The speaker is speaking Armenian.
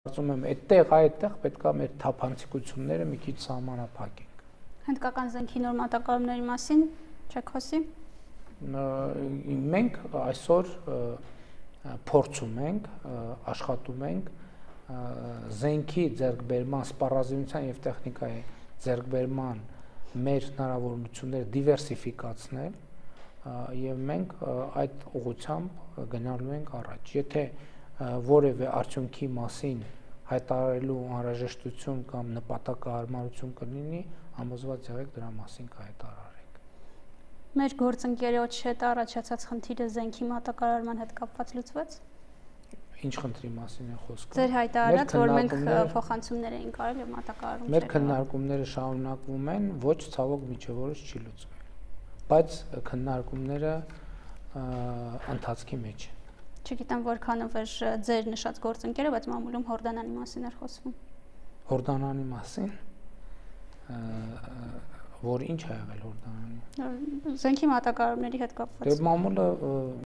Կարծում եմ այդտեղ պետք է մեր թափանցիկությունները մի քիչ սահմանափակենք։ Հնդկական զենքի նոր մատակարարումների մասին չեք խոսի։ Մենք այսօր փորձում ենք, աշխատում ենք զենքի ձեռքբերման, սպառազինության եւ տեխնիկայի ձեռքբերման մեր հնարավորությունները դիվերսիֆիկացնել եւ մենք այդ ուղղությամբ գնալու ենք առաջ։ Եթե որևէ արդյունքի մասին հայտարարելու անհրաժեշտություն կամ նպատակահարմարություն կլինի, համոզված եղեք դրա մասին կհայտարարենք։ Մեր գործընկերոջ հետ առաջացած խնդիրը զենքի մատակարարման հետ կապված լուծվեց։ Ինչ խնդրի մասին է խոսքը։ Ձեր հայտարարած, որ մենք փոխանցումներ էինք արել եւ մատակարարում Մեր քննարկումները շարունակվում են, ոչ ցավոք միջև օրս չի լուծվել։ Բայց քննարկումները ընթացքի մեջ են։ Չգիտեմ որքանով էր ձեր նշած գործընկերը, բայց մամուլում Հորդանանի մասին էր խոսվում։ Հորդանանի մասին, որ ինչ ա եղել Հորդանանի։ Զենքի մատակարարումների հետ կապված։ Դե մամուլը